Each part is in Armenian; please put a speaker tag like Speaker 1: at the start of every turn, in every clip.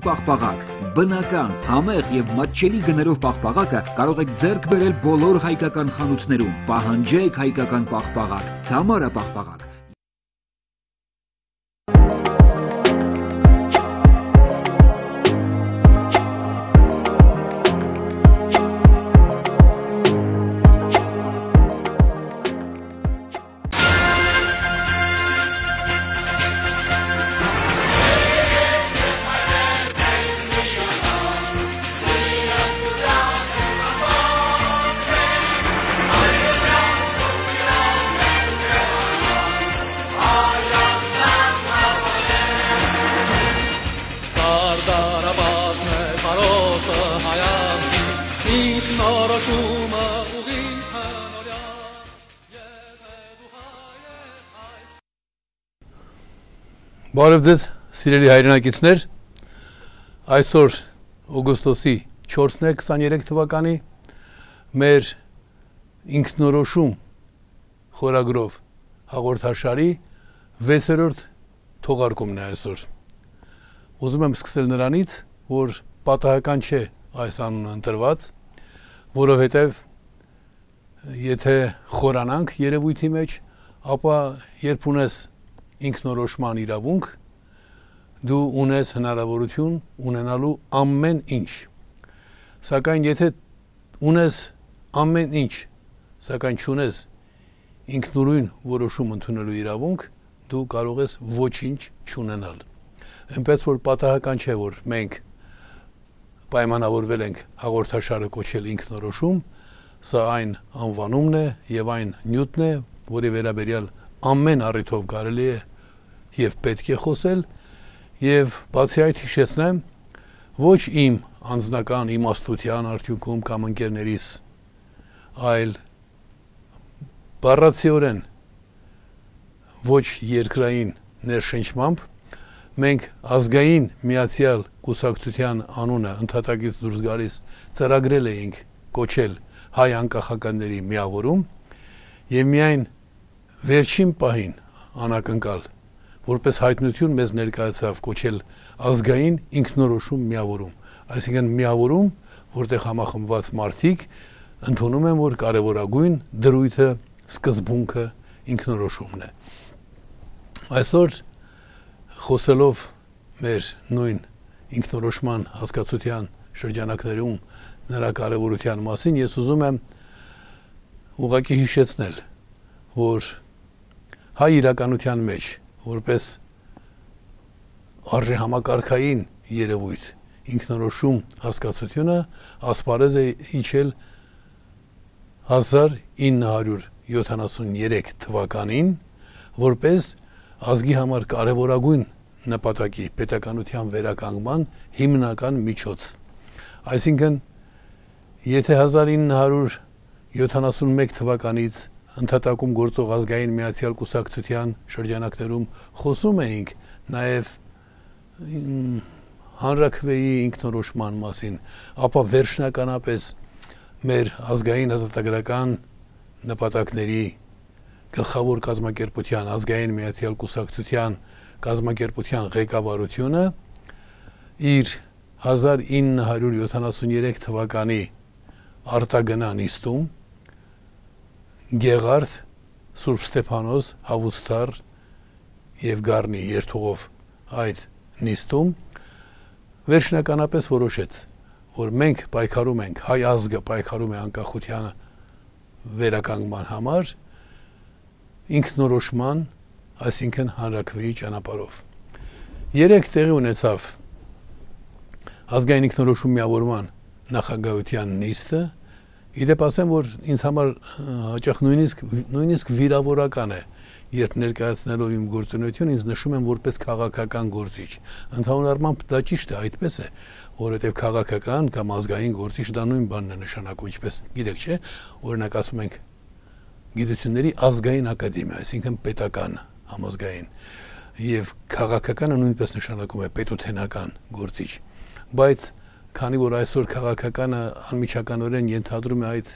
Speaker 1: պաղպաղակ, բնական, համեղ եւ մատչելի գներով պաղպաղակը կարող եք ձեռք բերել բոլոր հայկական խանութներում։ Պահանջեք հայկական պաղպաղակ, Թամարա պաղպաղակ։
Speaker 2: Բարև ձեզ, սիրելի հայրենակիցներ, այսօր օգոստոսի 4-ն է 23 թվականի, մեր ինքնորոշում խորագրով հաղորդաշարի 6-րդ թողարկումն է այսօր։ Ուզում եմ սկսել նրանից, որ պատահական չէ այս անունը ընտրված, որովհետև եթե խորանանք երևույթի մեջ, ապա երբ ունես ինքնորոշման իրավունք, դու ունես հնարավորություն ունենալու ամեն ինչ, սակայն եթե ունես ամեն ինչ, սակայն չունես ինքնուրույն որոշում ընդունելու իրավունք, դու կարող ես ոչինչ չունենալ։ Այնպես որ պատահական չէ, որ մենք պայմանավորվել ենք հաղորդաշարը կոչել ինքնորոշում, սա այն անվանումն է եւ այն նյութն է, որի վերաբերյալ ամեն առիթով կարելի է եւ պետք է խոսել եւ բացի այդ հիշեցնեմ ոչ իմ անձնական իմաստության արդյունքում կամ ընկերներիս, այլ բառացիորեն ոչ երկրային ներշնչմամբ մենք ազգային միացյալ կուսակցության անունը ընդհատակից դուրս գալիս ծրագրել էինք կոչել հայ անկախականների միավորում եւ միայն վերջին պահին անակնկալ, որպես հայտնություն մեզ ներկայացավ կոչել ազգային ինքնորոշում միավորում, այսինքն միավորում, որտեղ համախմբված մարդիկ ընդունում են, որ կարևորագույն դրույթը, սկզբունքը ինքնորոշումն է։ Այսօր խոսելով մեր նույն ինքնորոշման հասկացության շրջանակներում նրա կարևորության մասին, ես ուզում եմ ուղղակի հիշեցնել, որ հայ իրականության մեջ, որպես արժեհամակարգային երևույթ, ինքնորոշում հասկացությունը ասպարեզ է իջել 1973 թվականին, որպես ազգի համար կարևորագույն նպատակի պետականության վերականգնման հիմնական միջոց։ Այսինքն, եթե 1971 թվականից ընդհատակում գործող ազգային միացյալ կուսակցության շրջանակներում խոսում էինք նաև հանրաքվեի ինքնորոշման մասին, ապա վերջնականապես մեր ազգային ազատագրական նպատակների գլխավոր կազմակերպության ազգային միացյալ կուսակցության կազմակերպության ղեկավարությունը իր 1973 թվականի արտագնա նիստում Գեղարդ, Սուրբ Ստեփանոս, Հավուստար եւ Գառնի երթուղով այդ նիստում վերջնականապես որոշեց, որ մենք պայքարում ենք, հայ ազգը պայքարում է անկախության վերականգնման համար ինքնորոշման, այսինքն հանրաքվեի ճանապարհով։ Երեք տեղի ունեցավ ազգային ինքնորոշում միավորման նախագահության նիստը, իդեպ ասեմ, որ ինձ համար հաճախ նույնիսկ վիրավորական է, երբ ներկայացնելով իմ գործունեություն, ինձ նշում են որպես քաղաքական գործիչ։ Ընդհանուր առմամբ դա ճիշտ է, այդպես է, որովհետև քաղաքական կամ ազգային գործիչ դա նույն բանն է նշանակում, ինչպես գիտեք, չէ՞, օրինակ ասում ենք գիտությունների ազգային ակադեմիա, այսինքն պետական համազգային, եւ քաղաքականը նույնպես նշանակում է պետութենական գործիչ, բայց քանի որ այսօր քաղաքականը անմիջականորեն ենթադրում է այդ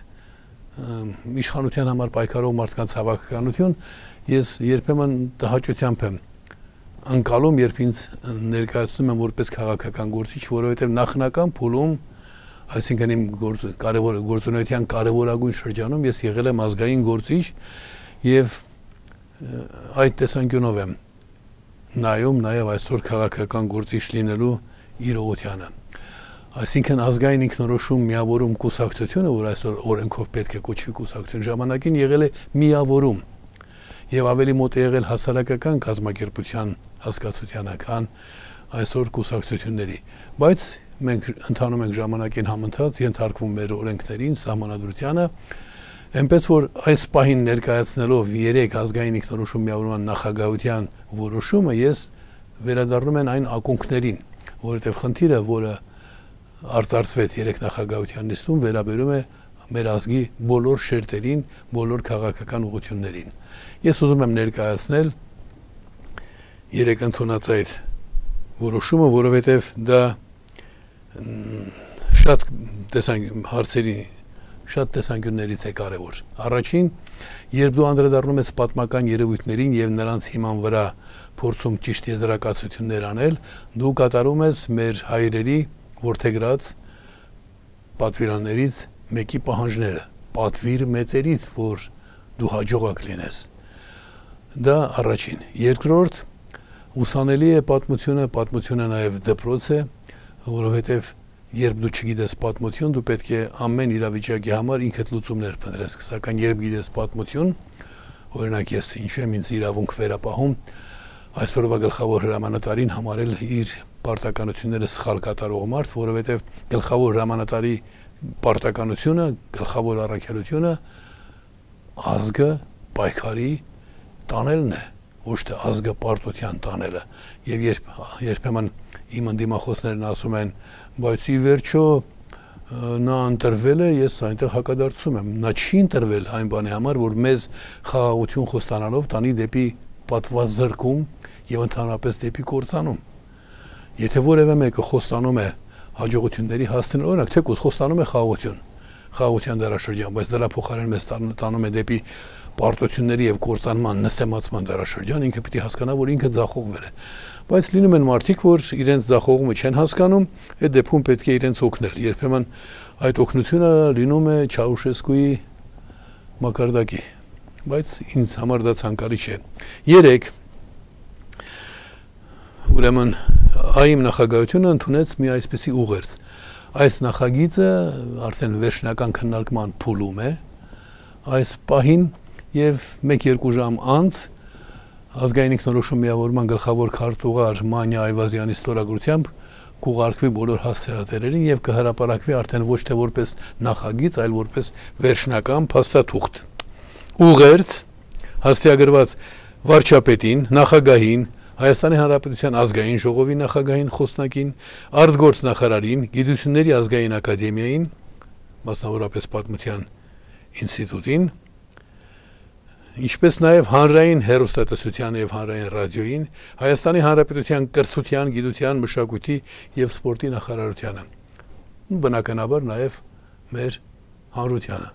Speaker 2: իշխանության համար պայքարող մարդկանց հավաքականություն, ես երբեմն տհաճությամբ եմ անկալում, երբ ինձ ներկայացնում եմ որպես քաղաքական գործիչ, որովհետև նախնական փուլում, այսինքն իմ գործունեության կարևորագույն շրջանում ես եղել եմ ազգային գործիչ եւ այդ տեսանկյունով եմ նայում նաեւ այսօր քաղաքական գործիչ լինելու իրողությանը։ Այսինքն ազգային ինքնորոշում միավորում կուսակցությունը, որ այսօր օրենքով պետք է կոչվի կուսակցություն, ժամանակին եղել է միավորում եւ ավելի մոտ է եղել հասարակական կազմակերպության հասկացությանը, քան այսօր կուսակցությունների, բայց մենք ընդհանում ենք ժամանակին համընթաց, ենթարկվում մեր օրենքներին, սահմանադրությանը, այնպես որ այս պահին ներկայացնելով 3 ազգային ինքնորոշում միավորման նախագահության որոշումը, ես վերադառնում եմ այն ակունքներին, որովհետև խնդիրը, որը արծարծվեց 3 նախագահության նիստում, վերաբերում է մեր ազգի բոլոր շերտերին, բոլոր քաղաքական ուղղություններին։ Ես ուզում եմ ներկայացնել 3 ընդունած այդ որոշումը, որովհետև դա շատ հարցերի շատ տեսանկյուններից է կարևոր։ Առաջին, երբ դու անդրադառնում ես պատմական երևույթներին եւ նրանց հիման վրա փորձում ճիշտ եզրակացություններ անել, դու կատարում ես մեր հայրերի որդեգրած պատվիրաններից մեկի պահանջները, պատվիր մեծերից, որ դու հաջողակ լինես։ Դա առաջին։ Երկրորդ, ուսանելի է պատմությունը նաեւ դպրոց է, որովհետեւ երբ դու չգիտես պատմություն, դու պետք է ամեն իրավիճակի համար ինքդ լուծումներ փնտրես, սակայն երբ գիտես պատմություն, օրինակ ես ինչու եմ ինձ իրավունք վերապահում, այսօրվա գլխավոր հրամանատարին համարել իր պարտականությունները սխալ կատարող մարդ, որովհետև գլխավոր հրամանատարի պարտականությունը, գլխավոր առաքելությունը ազգը պայքարի տանելն է, ոչ թե ազգը պարտության տանելը։ Եվ երբեմն իմ ընդդիմախոսներն ասում են, բայց ի վերջո նա ընտրվել է, ես այնտեղ հակադարձում եմ։ Նա չի ընտրվել այն բանի համար, որ մեզ խաղաղություն խոստանալով տանի դեպի պատվազրկում եւ ընդհանրապես դեպի կործանում։ Եթե որևէ մեկը խոստանում է հաջողությունների հասնել, օրինակ թեկուզ խոստանում է խաղաղության դարաշրջան, բայց դրա փոխարեն մեզ տանում է դեպի պարտությունների եւ կործանման նսեմացման դարաշրջան, ինքը պիտի հասկանա, որ ինքը ձախողվել է։ Բայց լինում են մարդիկ, որ իրենց ձախողումը չեն հասկանում, այդ դեպքում պետք է իրենց օգնել։ Երբեմն այդ օգնությունը լինում է Չաուշեսկուի մակարդակի, բայց ինձ համար դա ցանկալի չէ։ 3. Ուրեմն այմ նախագահությունը ընդունեց մի այսպիսի ուղերձ։ Այս նախագիծը արդեն վերջնական քննարկման փուլում է, այս պահին եւ 1-2 ժամ անց ազգային ինքնորոշում միավորման գլխավոր քարտուղար Մանյա Այվազյանի ստորագրությամբ կուղարկվի բոլոր հասցեատերերին եւ կհրապարակվի արդեն ոչ թե որպես նախագիծ, այլ որպես վերջնական փաստաթուղթ։ Ուղերձ հաստիագրված վարչապետին, նախագահին, Հայաստանի Հանրապետության ազգային ժողովի նախագահին, խոսնակին, արտգործնախարարին, Գիտությունների ազգային ակադեմիային, մասնավորապես Պատմության ինստիտուտին, ինչպես նաև հանրային հեռուստատեսության եւ հանրային ռադիոյին, Հայաստանի Հանրապետության կրթության, գիտության, մշակույթի եւ սպորտի նախարարությանը, բնականաբար նաև մեր հանրությանը։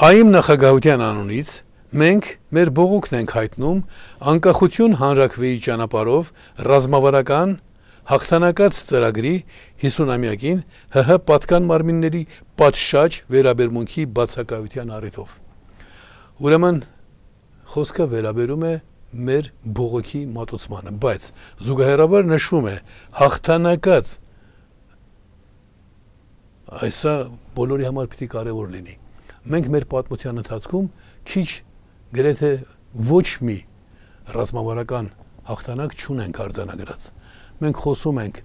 Speaker 2: Այմ նախագահության անունից մենք մեր բողոքն ենք հայտնում անկախություն հանրաքվեի ճանապարհով ռազմավարական հաղթանակած ծրագրի 50-ամյակին ՀՀ պատկան մարմինների պատշաճ վերաբերմունքի բացակայության առիթով։ Ուրեմն խոսքը վերաբերում է մեր բողոքի մատուցմանը, բայց զուգահեռաբար նշվում է հաղթանակած, այսա բոլորի համար պիտի կարևոր լինի։ Մենք մեր պատմության ընթացքում քիչ գրեթե ոչ մի ռազմավարական հաղթանակ չունենք արձանագրած։ Մենք խոսում ենք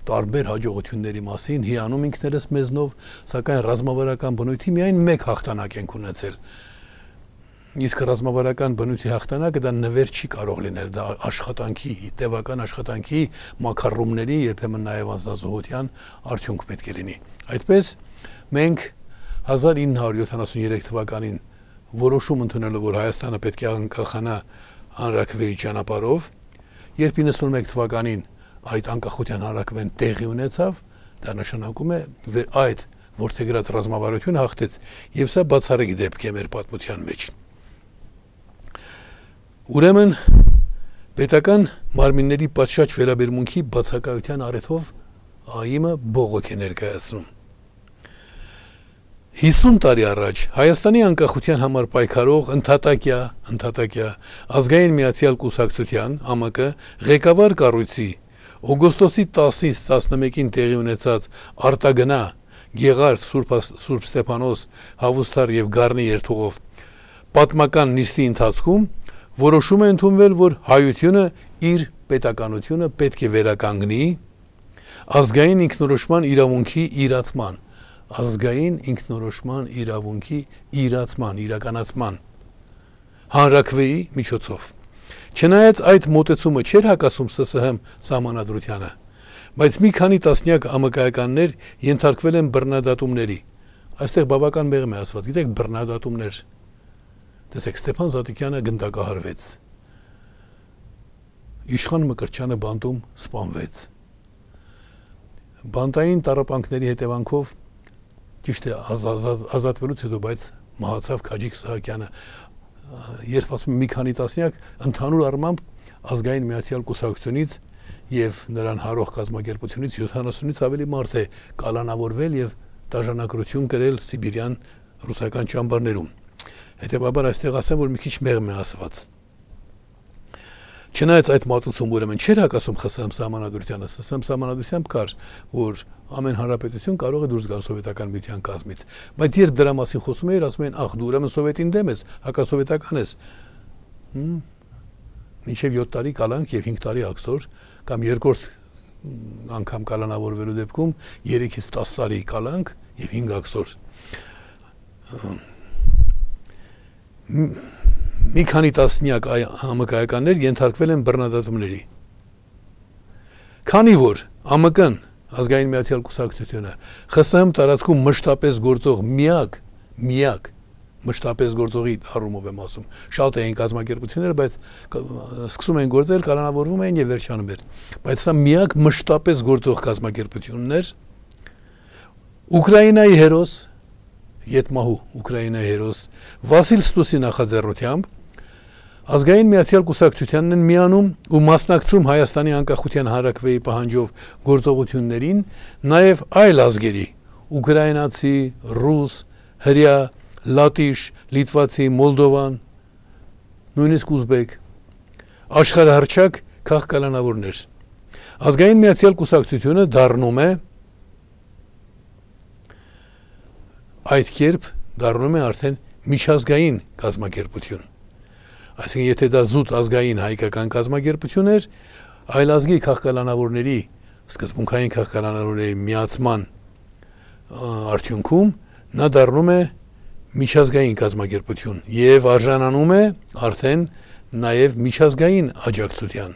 Speaker 2: տարբեր հաջողությունների մասին, հիանում ինքներս մեզնով, սակայն ռազմավարական բնույթի միայն մեկ հաղթանակ ենք ունեցել։ Իսկ ռազմավարական բնույթի հաղթանակը դա նվեր չի կարող լինել, դա աշխատանքի, տևական աշխատանքի, մակարռումների, երբեմն նաև անձնազոհության արդյունք պետք է լինի։ Այդպես մենք 1973 թվականին որոշում ընդունելով, որ Հայաստանը պետք է անկախանա հանրաքվեի ճանապարհով, երբ 91 թվականին այդ անկախության հանրաքվեն տեղի ունեցավ, դա նշանակում է այդ որդեգրած ռազմավարությունը հաղթեց, եւ սա բացառիկ դեպք է մեր պատմության մեջ։ Ուրեմն պետական մարմինների պատշաճ վերաբերմունքի բացակայության առիթով ԱԻՄ-ը բողոք է ներկայացնում։ 50 տարի առաջ Հայաստանի անկախության համար պայքարող ընդհատակյա ազգային միացյալ կուսակցության ԱՄԿ ղեկավար կառույցի օգոստոսի 10-ից 11-ին տեղի ունեցած արտագնա Գեղարդ Սուրբ Ստեփանոս Հավուստար եւ Գառնի երթուղով պատմական նիստի ընթացքում որոշում է ընդունվել, որ հայությունը իր պետականությունը պետք է վերականգնի ազգային ինքնորոշման իրականացման հանրաքվեի միջոցով։ Չնայած այդ մոտեցումը չէր հակասում ՍՍՀ սահմանադրությանը, բայց մի քանի տասնյակ ԱՄԿ-ականներ ենթարկվել են բռնադատումների։ Այստեղ բավական մեղմ է ասված, գիտեք, բռնադատումներ։ Տեսեք, Ստեփան Զատիկյանը գնդակահարվեց։ Իշխան Մկրտչյանը բանտում սպանվեց։ Բանտային տառապանքների հետևանքով ճիշտ է ազատվելուց հետո, բայց մահացավ Քաջիկ Սահակյանը։ Երբ ասում մի քանի տասնյակ, ընդհանուր առմամբ ազգային միացյալ կուսակցությունից եւ նրան հարող կազմակերպությունից 70-ից ավելի մարդ է կալանավորվել եւ դաժանակրություն կրել Սիբիրյան ռուսական ճամբարներում։ Հետևաբար այստեղ ասեմ, որ մի քիչ մեղմ է ասված։ Չնայած այդ մատուցում ուրեմն չէր հակասում ԽՍՀՄ սահմանադրությանը, ՍՍՀՄ սահմանադրությամբ կար, որ ամեն հանրապետություն կարող է դուրս գալ սովետական միության կազմից, բայց երբ դրա մասին խոսում էր, ասում են, ախ, դու ուրեմն սովետին դեմ ես, հակասովետական ես։ Մինչև 7 տարի կալանք եւ 5 տարի աքսոր, կամ երկրորդ անգամ կալանավորվելու դեպքում 3-ից 10 տարի կալանք եւ 5 աքսոր։ Մի քանի տասնյակ ԱՄԿ-ականներ ենթարկվել են բռնադատումների։ Քանի որ ԱՄԿ-ն ազգային միացյալ կուսակցությունը ԽՍՀՄ տարածքում մշտապես գործող միակ մշտապես գործողի առումով եմ ասում, շատ էին կազմակերպությունները, բայց սկսում են գործել, կալանավորվում էին եւ վերջանում էր։ Բայց սա միակ մշտապես գործող կազմակերպությունն էր Ուկրաինայի հերոս Ետմահու Ուկրաինայի հերոս Վասիլ Ստուսի նախաձեռնությամբ ազգային միացյալ կուսակցությանն են միանում ու մասնակցում Հայաստանի անկախության հանրաքվեի պահանջով գործողություններին նաև այլ ազգերի ուկրաինացի, ռուս, հրյա, լատիշ, լիտվացի, մոլդովան, նույնիսկ ուզբեկ աշխարհահռչակ քաղաքականավորներ։ Ազգային միացյալ կուսակցությունը դառնում է այդ կերպ դառնում է արդեն միջազգային կազմակերպություն։ Այսինքն, եթե դա զուտ ազգային հայկական կազմակերպություն էր, այլ ազգի քաղաքականավորների, սկզբունքային քաղաքականավորների միացման արդյունքում նա դառնում է միջազգային կազմակերպություն եւ արժանանում է արդեն նաեւ միջազգային աջակցության։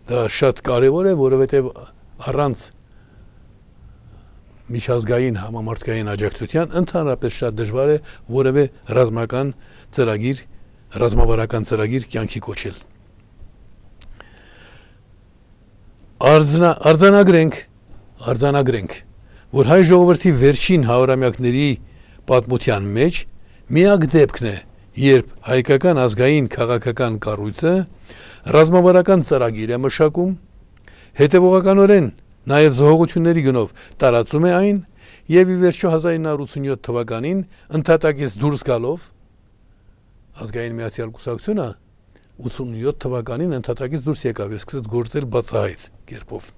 Speaker 2: Դա շատ կարեւոր է, որովհետեւ առանց միջազգային համամարտկային աջակցության ընդհանրապես շատ դժվար է որևէ ռազմավարական ծրագիր կյանքի կոչել։ Արձանագրենք, որ հայ ժողովրդի վերջին հարյուրամյակների պատմության մեջ միակ դեպքն է, երբ հայկական ազգային քաղաքական կառույցը ռազմավարական ծրագիր է մշակում, հետևողականորեն նաև զոհողությունների գնով տարածում է այն եւ ի վերջո 1987 թվականին ընդհատակից դուրս գալով ազգային միացյալ կուսակցությունը 87 թվականին ընդհատակից դուրս եկավ եւ սկսեց գործել բացահայտ կերպով։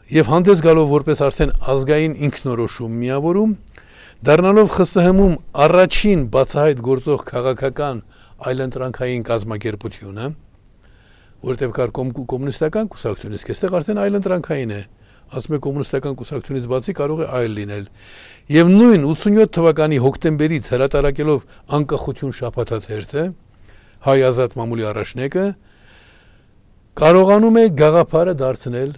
Speaker 2: Եվ հանդես գալով որպես արդեն ազգային ինքնորոշում միավորում, դառնալով ԽՍՀՄ-ում առաջին բացահայտ գործող քաղաքական այլընտրանքային կազմակերպությունը, որտեղ կար կոմունիստական կուսակցություն, իսկ այստեղ արդեն այլընտրանքային է, ասում է կոմունիստական կուսակցությունից բացի կարող է այլ լինել։ Եվ նույն 87 թվականի հոկտեմբերից հրատարակելով անկախություն շաբաթաթերթը, հայ ազատ մամուլի առաջնեկը կարողանում է գաղափարը դարձնել,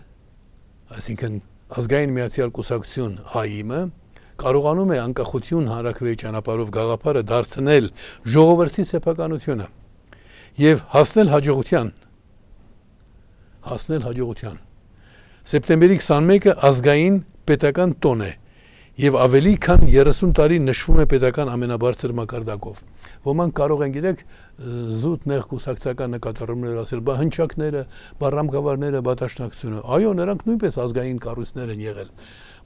Speaker 2: այսինքն ազգային միացյալ կուսակցություն ԱԻՄ-ը կարողանում է անկախություն հանրաքվեի ճանապարհով գաղափարը դարձնել ժողովրդի սեփականությունը եւ հասնել հաջողության։ Սեպտեմբերի 21-ը ազգային պետական տոն է եւ ավելի քան 30 տարի նշվում է պետական ամենաբարձր մակարդակով։ Ոմանք կարող են գիտեք զուտ նեղ կուսակցական նկատառումներ ասել, բա հնչակները, բա ռամկավարները, բա դաշնակցությունը։ Այո, նրանք նույնպես ազգային կառույցներ են եղել,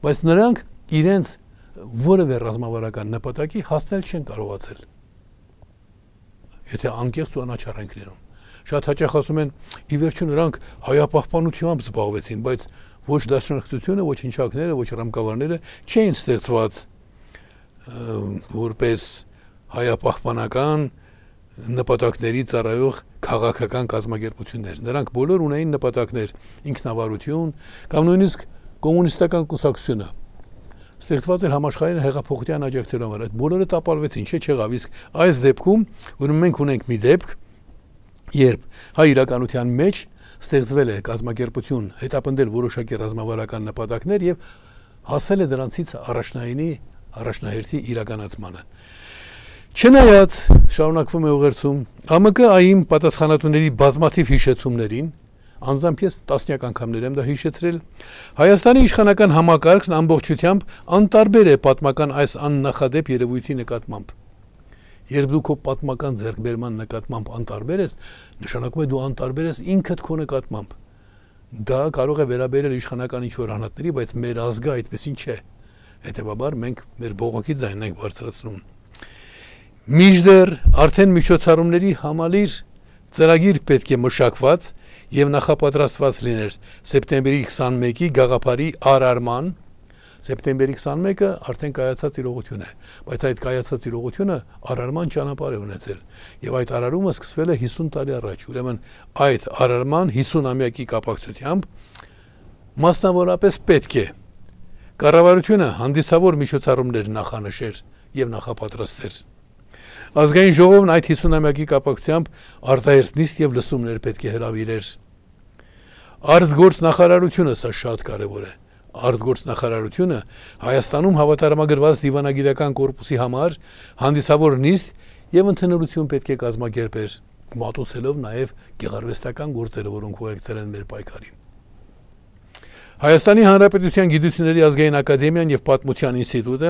Speaker 2: բայց նրանք իրենց որևէ ռազմավարական նպատակի հասնել չեն կարողացել։ Եթե անկեղծ ու անաչառ ենք լինում։ Շատ հաճախ ասում են, ի վերջո նրանք հայապահպանությամբ զբաղվեցին, բայց ոչ դաշնակցությունը, ոչ հնչակները, ոչ ռամկավարները չէին ստեղծված որպես հայապահպանական նպատակների ծառայող քաղաքական կազմակերպություններ։ Նրանք բոլոր ունեին նպատակներ, ինքնավարություն կամ նույնիսկ կոմունիստական կուսակցությունը ստեղծված էր համաշխարհային հեղափոխության աջակցելու համար։ Այդ բոլորը տապալվեցին, չեղավ։ Իսկ այս դեպքում, ուրեմն մենք ունենք մի դեպք, երբ հայ իրականության մեջ ստեղծվել է կազմակերպություն, հետապնդել որոշակի ռազմավարական նպատակներ եւ հասել է դրանցից առաջնահերթի իրականացմանը։ Չնայած շարունակվում է ուղերձում ԱՄԿ-ային պատասխանատուների բազմաթիվ հիշեցումներին, անձամբ ես տասնյակ անգամներ եմ դա հիշեցրել, Հայաստանի իշխանական համակարգն ամբողջությամբ անտարբեր է պատմական այս աննախադեպ երևույթի նկատմամբ։ Երբ դու քո պատմական ձեռքբերման նկատմամբ անտարբեր ես, նշանակում է դու անտարբեր ես ինքդ քո նկատմամբ։ Դա կարող է վերաբերել իշխանական ինչ-որ անհատների, բայց մեր ազգը այդպեսին չէ։ Հետևաբար մենք մեր բողոքի ձայնն ենք բարձրացնում։ Մինչդեռ արդեն միջոցառումների համալիր ծրագիր պետք է մշակված եւ նախապատրաստված լիներ սեպտեմբերի 21-ի գաղափարի արարման։ Սեպտեմբերի 21-ը արդեն կայացած իրողություն է, բայց այդ կայացած իրողությունը արարման ճանապարհ է ունեցել եւ այդ արարումը սկսվել է 50 տարի առաջ։ Ուրեմն այդ արարման 50-ամյակի կապակցությամբ մասնավորապես պետք է կառավարությունը հանդիսավոր միջոցառումներ նախանշեր եւ նախապատրաստեր։ Ազգային ժողովն այդ 50-ամյակի կապակցությամբ արտահերթ նիստ եւ լսումներ պետք է հրավիրեր։ Արտգործ նախարարությունը սա շատ կարեւոր է։ Արտգործ նախարարությունը Հայաստանում հավատարմագրված դիվանագիտական կորպուսի համար հանդիսավոր նիստ եւ ընդհանրություն պետք է կազմակերպեր, մատուցելով նաեւ գեղարվեստական գործերը, որոնք ուղեկցել են մեր պայքարին։ Հայաստանի Հանրապետության Գիտությունների ազգային ակադեմիան եւ Պատմության ինստիտուտը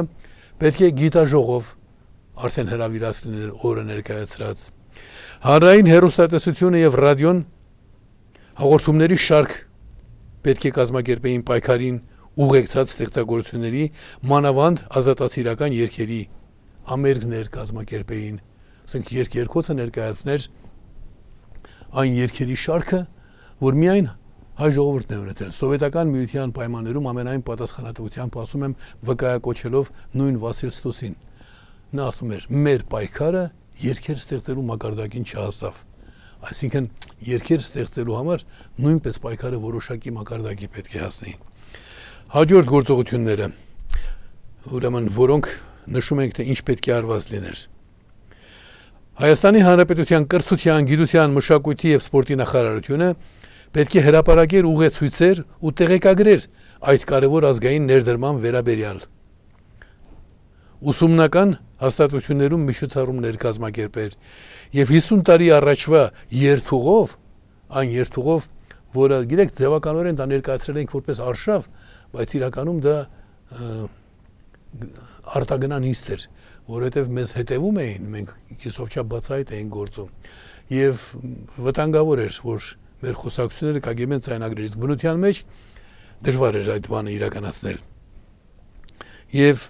Speaker 2: պետք է գիտաժողով արդեն հրավիրած լինել օրը ներկայացրած։ Հանրային հեռուստատեսությունը եւ ռադիոն հաղորդումների շարք պետք է կազմակերպեին պայքարին ուղեկցած ստեղծագործությունների, մանավանդ ազատասիրական երգերի ամերգներ կազմակերպեին, ասենք երկոցը ներկայացներ այն երգերի շարքը, որ միայն հայ ժողովուրդն է ունեցել։ Սովետական միության պայմաններում ամենայն պատասխանատվությամբ ասում եմ վկայակոչելով նույն Վասիլ Ստոսին։ Նա ասում էր. մեր պայքարը երգեր ստեղծելու մակարդակին չհասավ։ Այսինքն երգեր ստեղծելու համար նույնպես պայքարը որոշակի մակարդակի պետք է հասնի։ Հաջորդ գործողությունները, ուրեմն որոնք նշում ենք, թե ինչ պետք է արված լիներ։ Հայաստանի Հանրապետության կրթության, գիտության, մշակույթի եւ սպորտի նախարարությունը պետք է հրապարակեր ուղեցույցեր ու տեղեկագրեր այդ կարևոր ազգային ներդրման վերաբերյալ։ Ուսումնական հաստատություններում միջոցառումներ կազմակերպեր եւ 50 տարի առաջվա երթուղով, այն երթուղով, որը գիտեք ձևականորեն դա ներկայացրել ենք որպես արշավ, բայց իրականում դա արտագնան հիստ էր, որովհետեւ մեզ հետևում էին, մենք կիսով չափ բացահայտ էինք գործում եւ վտանգավոր էր, որ մեր խոսակցությունները կագեմեն ցայնագրեր, իսկ բնության մեջ դժվար էր այդ բանը իրականացնել։ Եվ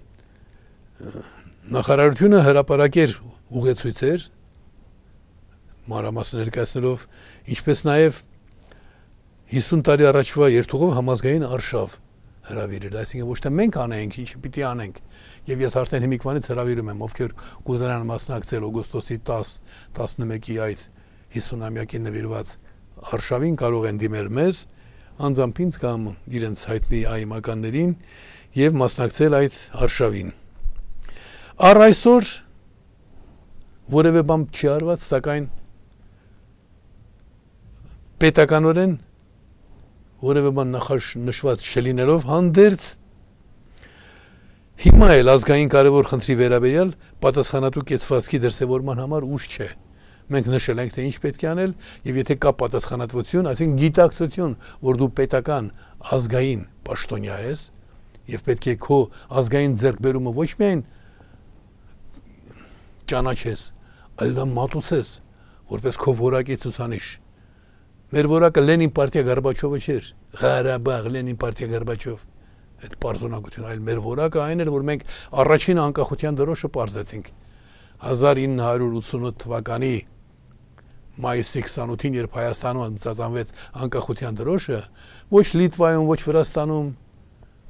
Speaker 2: նախարարությունը հրապարակեր ուղեցույցեր, մանրամասն ներկայացնելով, ինչպես նաև 50 տարի առաջվա երթուղով համազգային արշավ հրավիրել, այսինքն ոչ թե մենք անենք, ինչ պիտի անենք։ Եվ ես արդեն հիմիկվանից հրավիրում եմ, ովքեր կուզենան մասնակցել օգոստոսի 10-11-ի այդ 50-ամյակին նվիրված արշավին, կարող են դիմել մեզ, անձամբ ինձ կամ իրենց հայտնի այմականներին եւ մասնակցել այդ արշավին։ Առ այսօր որևէ բան չի արված, սակայն պետականորեն որևէ բան նախանշված չլինելով հանդերձ հիմա էլ ազգային կարևոր խնդրի վերաբերյալ պատասխանատու կեցվածքի դրսևորման համար ուշ չէ։ Մենք նշել ենք, թե ինչ պետք է անել, եւ եթե կա պատասխանատվություն, այսինքն գիտակցություն, որ դու պետական ազգային պաշտոնյա ես, եւ պետք է քո ազգային ձեռքբերումը ոչ միայն ճանաչես, այլ դա մատուցես, որպես քո որակի ցուցանիշ։ Մեր որակը Լենին պարտիա Գորբաչովը չէր, Ղարաբաղ Լենին պարտիա Գորբաչով, այդ պարզունակությունը, այլ մեր որակը այն էր, որ մենք առաջին անկախության դրոշը պարզեցինք 1988 թվականի մայիսի 28-ին, երբ Հայաստանում ծածանվեց անկախության դրոշը, ոչ Լիտվայում, ոչ Վրաստանում,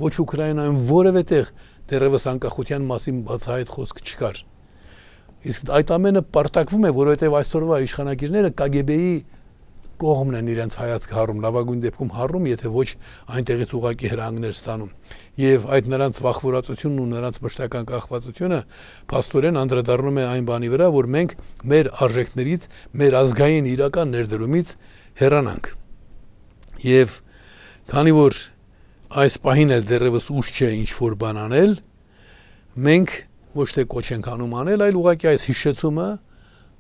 Speaker 2: ոչ Ուկրաինայում որևէ տեղ դեռևս անկախության մասին բացահայտ խոսք չկար։ Իսկ այդ ամենը պարտակվում է, որովհետև այսօրվա իշխանագիրները KGB-ի կողմն են իրենց հայացք հառում, լավագույն դեպքում հառում, եթե ոչ այնտեղից ուղակի հրանգներ ստանում։ Եվ այդ նրանց վախվորածությունն ու նրանց մշտական կախվածությունը փաստորեն անդրադառնում է այն բանի վրա, որ մենք մեր արժեքներից, մեր ազգային իրական ներդրումից հեռանանք։ Եվ քանի որ այս պահին էլ դեռևս ուշ չէ ինչ-որ բան անել, մենք ոչ թե կոչ ենք անում անել, այլ ուղղակի այս հիշեցումը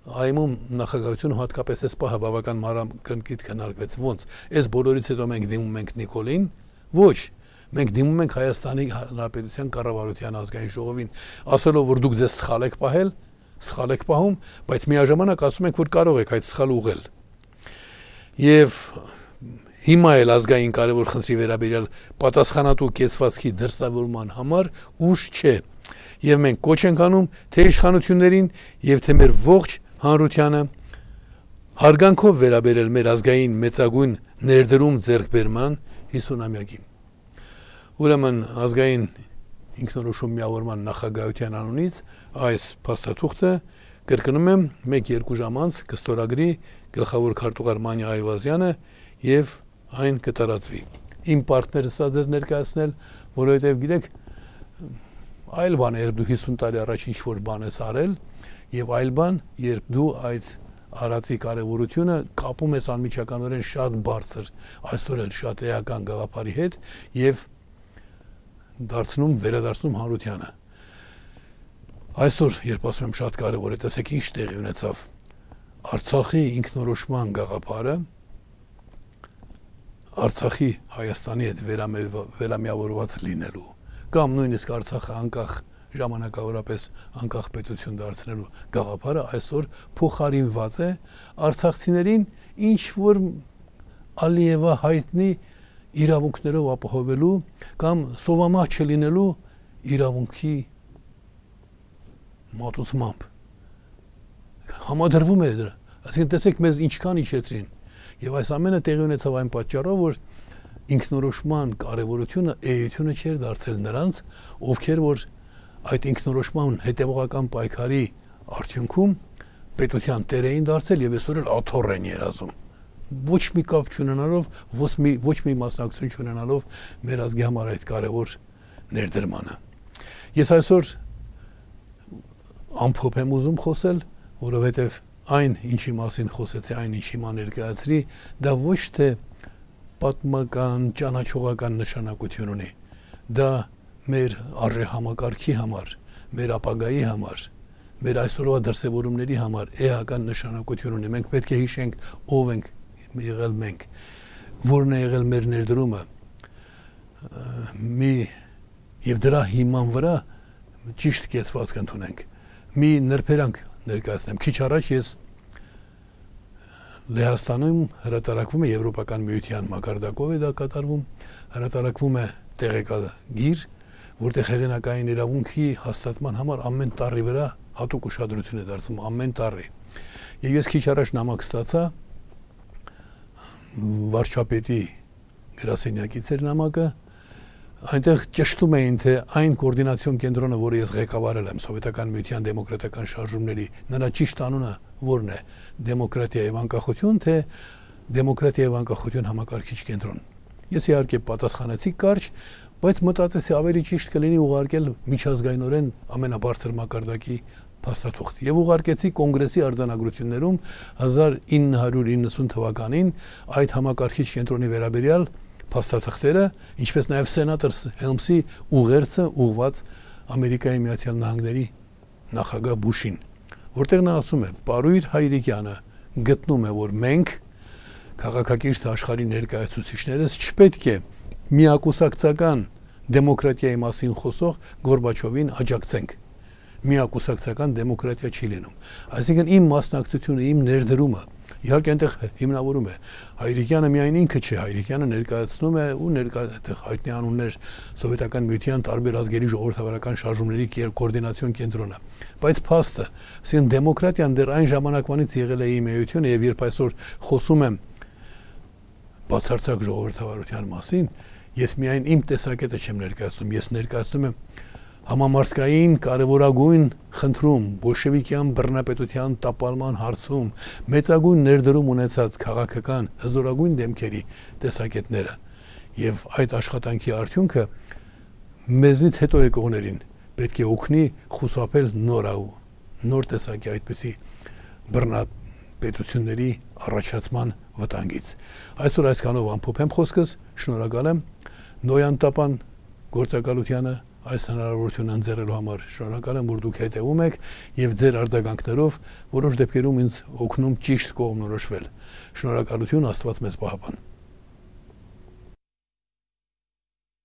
Speaker 2: այմում նախագահությունը հատկապես այս պահը բավական մանրակրկիտ քննարկվեց, ոնց այս բոլորից հետո մենք դիմում ենք Նիկոլին, ոչ, մենք դիմում ենք Հայաստանի Հանրապետության կառավարության ազգային ժողովին, ասելով, որ դուք ձեզ սխալ եք պահել, սխալ եք պահում, բայց միաժամանակ ասում ենք, որ կարող եք այդ սխալը ուղղել։ Եվ հիմա էլ ազգային կարևոր խնդրի վերաբերյալ պատասխանատու կեցվածքի դրսևորման համար ուշ չէ։ Եվ մենք կոչ ենք անում թե իշխանություններին եւ թե մեր ողջ հանրությանը հարգանքով վերաբերել մեր ազգային մեծագույն ներդրում ձեռքբերման 50-ամյակին։ Ուրեմն ազգային ինքնորոշում միավորման նախագահության անունից այս փաստաթուղթը կրկնում եմ 1-2 ժամ անց կստորագրի գլխավոր քարտուղար Մանյա Այվազյանը եւ այն կտարածվի։ Իմ պարտները սա ձեզ ներկայացնել, որովհետեւ գիտեք այլ բան է, երբ դու 50 տարի առաջ ինչ-որ բան ես արել, եւ այլ բան, երբ դու այդ արածի կարևորությունը կապում ես անմիջականորեն շատ բարձր, այսօր էլ շատ էական գաղափարի հետ եւ վերադարձնում հանրությանը։ Այսօր, երբ ասում եմ շատ կարևոր է, տեսեք ինչ տեղի ունեցավ Արցախի ինքնորոշման գաղափարը, Արցախի Հայաստանի հետ վերամիավորված լինելու կամ նույնիսկ Արցախը անկախ ժամանակավորապես անկախ պետություն դարձնելու գաղափարը այսօր փոխարինված է արցախցիներին ինչ որ Ալիևա հայտնի իրավունքներով ապահովելու կամ սովամահ չլինելու իրավունքի մատուցմամբ համադրվում է դրա։ Այսինքն տեսեք մեզ ինչքան իջեցրին եւ այս ամենը տեղի ունեցավ այն պատճառով, որ ինքնորոշման կարևորությունը էությունը չէր դարձել նրանց, ովքեր որ այդ ինքնորոշման հետևողական պայքարի արդյունքում պետության տեր էին դարձել եւ այսօր էլ աթոռ են երազում։ Ոչ մի կապ չունենալով, ոչ մի մասնակցություն չունենալով մեր ազգի համար այդ կարևոր ներդրմանը։ Ես այսօր ամփոփ եմ ուզում խոսել, որովհետեւ այն ինչի մասին խոսեցի, այն ինչի ման ներկայացրի, դա ոչ թե պատմական, ճանաչողական նշանակություն ունի։ Դա մեր արժեհամակարգի համար, մեր ապագայի համար, մեր այսօրվա դրսևորումների համար էական նշանակություն ունի։ Մենք պետք է հիշենք ով ենք եղել մենք, որն է եղել մեր ներդրումը, եւ դրա հիման վրա ճիշտ կեցվածք ընդունենք։ Մի նրբերանգ ներկայացնեմ։ Քիչ առաջ ես Լեհաստանում հրատարակվում է Եվրոպական միության մակարդակով է դա կատարվում, հրատարակվում է տեղեկագիր, որտեղ հեղինակային իրավունքի հաստատման համար ամեն տարի վրա հատուկ ուշադրություն է դարձվում, ամեն տարի։ Եվ ես քիչ առաջ նամակ ստացա վարչապետի գրասենյակից էր նամակը, այնտեղ ճշտում էին, թե այն կոորդինացիոն կենտրոնը, որը ես ղեկավարել եմ Սովետական միության դեմոկրատական շարժումների, նրա ճիշտ անունը որն է, դեմոկրատիա եւ անկախություն, թե դեմոկրատիա եւ անկախություն համակարգիչ կենտրոն։ Ես իհարկե պատասխանեցի կարճ, բայց մտածեցի ավելի ճիշտ կլինի ուղարկել միջազգայինորեն ամենաբարձր մակարդակի փաստաթուղթ եւ ուղարկեցի կոնգրեսի արձանագրություններում 1990 թվականին այդ համակարգիչ կենտրոնի վերաբերյալ փաստաթղթերը, ինչպես նաեւ սենատոր Հելմսի ուղերձը ուղված Ամերիկայի Միացյալ Նահանգների նախագահ Բուշին, որտեղ նա ասում է. «Պարույր Հայրիկյանը գտնում է, որ մենք քաղաքակիրթ աշխարհի ներկայացուցիչներս չպետք է միակուսակցական դեմոկրատիայի մասին խոսող Գորբաչովին աջակցենք։ միակուսակցական դեմոկրատիա չի լինում։ Այսինքն իմ մասնակցությունը, իմ ներդրումը իհարկե այնտեղ հիմնավորում է Հայրիկյանը միայն ինքը չէ, Հայրիկյանը ներկայացնում է ու այդտեղ հայտնի անուններ սովետական միության տարբեր ազգերի ժողովրդավարական շարժումների կոորդինացիոն կենտրոնը, բայց փաստը, ասեն դեմոկրատիան դեռ այն ժամանակվանից եղել է իմ էությունը եւ երբ այսօր խոսում եմ բացարձակ ժողովրդավարության մասին, ես միայն իմ տեսակետը չեմ ներկայացնում, ես ներկայացնում եմ համամարտկային կարևորագույն խնդրում բոլշևիկյան բռնապետության տապալման հարցում մեծագույն ներդրում ունեցած քաղաքական հզորագույն դեմքերի տեսակետները եւ այդ աշխատանքի արդյունքը մեզնից հետո եկողներին պետք է օգնի խուսափել նոր տեսակի այդպիսի բռնապետությունների առաջացման վտանգից։ Այսօր այսքանով ամփոփեմ խոսքս, շնորհակալ եմ Նոյան Տապան գործակալությանը այս հնարավորությունը ընձեռելու համար, շնորհակալ եմ, որ դուք հետևում եք եւ ձեր արձագանքներով որոշ դեպքերում ինձ օգնում ճիշտ կողմնորոշվել։ Շնորհակալություն, Աստված մեզ պահապան։